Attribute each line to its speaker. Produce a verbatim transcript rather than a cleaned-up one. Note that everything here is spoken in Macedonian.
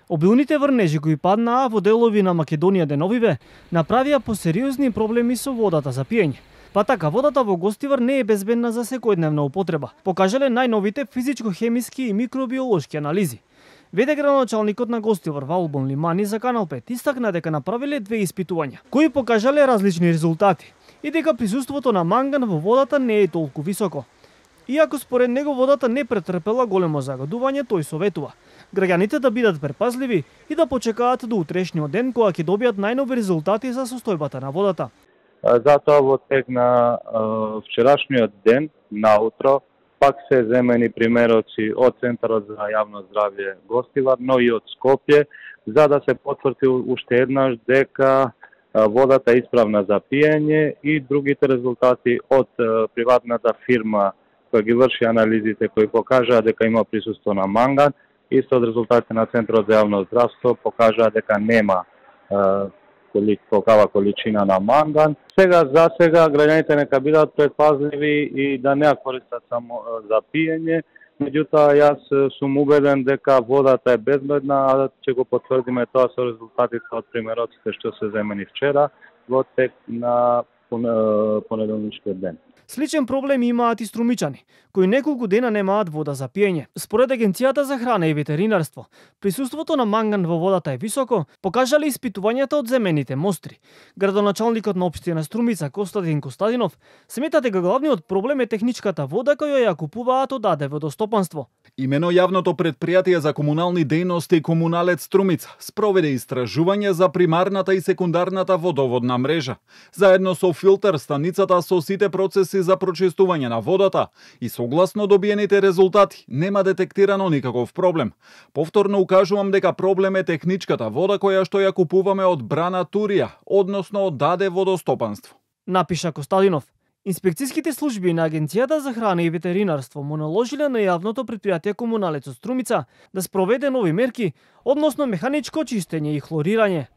Speaker 1: Обилните врнежи кои паднаа во делови на Македонија деновиве направија посериозни проблеми со водата за пиење. Па така, водата во Гостивар не е безбедна за секојдневна употреба, покажале најновите физичко-хемиски и микробиолошки анализи. Веде градоначалникот на Гостивар Валбон Лимани за Канал пет истакна дека направиле две испитувања, кои покажале различни резултати и дека присуството на манган во водата не е толку високо. Иако според него водата не претрпела големо загадување, тој советува граѓаните да бидат предпазливи и да почекаат до утрешниот ден кога ќе добијат најнови резултати за состојбата на водата.
Speaker 2: Затоа во тек на вчерашниот ден, наутро, пак се земени примероци од Центарот за јавно здравје Гостивар, но и од Скопје, за да се потврди уште еднаш дека водата е исправна за пиење и другите резултати од приватната фирма која ги врши анализите кои покажаа дека има присуство на манган, исто од резултатите на Центарот за јавно здравство покажаа дека нема коликава количина на манган. Сега за сега граѓаните нека бидат предпазливи и да не ја користат само за пиење. Меѓутоа јас сум убеден дека водата е безбедна, а ќе го потврдиме тоа со резултатите од примероците што се земени вчера во тек на понеделничкиот ден.
Speaker 1: Сличен проблем имаат и струмичани, кои неколку дена немаат вода за пиење. Според Агенцијата за храна и ветеринарство, присуството на манган во водата е високо, покажале испитувањата од земените мостри. Градоначалникот на општина Струмица Костадин Костадинов смета дека главниот проблем е техничката вода која ја купуваат од АД Водостопанство.
Speaker 3: Имено јавното предпријатие за комунални дејности Комуналец Струмица спроведе истражување за примарната и секундарната водоводна мрежа, заедно со филтер станицата со сите процеси за прочистување на водата и согласно добиените резултати нема детектирано никаков проблем. Повторно укажувам дека проблем е техничката вода која што ја купуваме од Брана Турија, односно од АД Водостопанство.
Speaker 1: Напиша Костадинов. Инспекцијските служби на Агенцијата за храна и ветеринарство му наложиле на јавното предпријатие Комуналец Струмица да спроведе нови мерки, односно механичко чистење и хлорирање.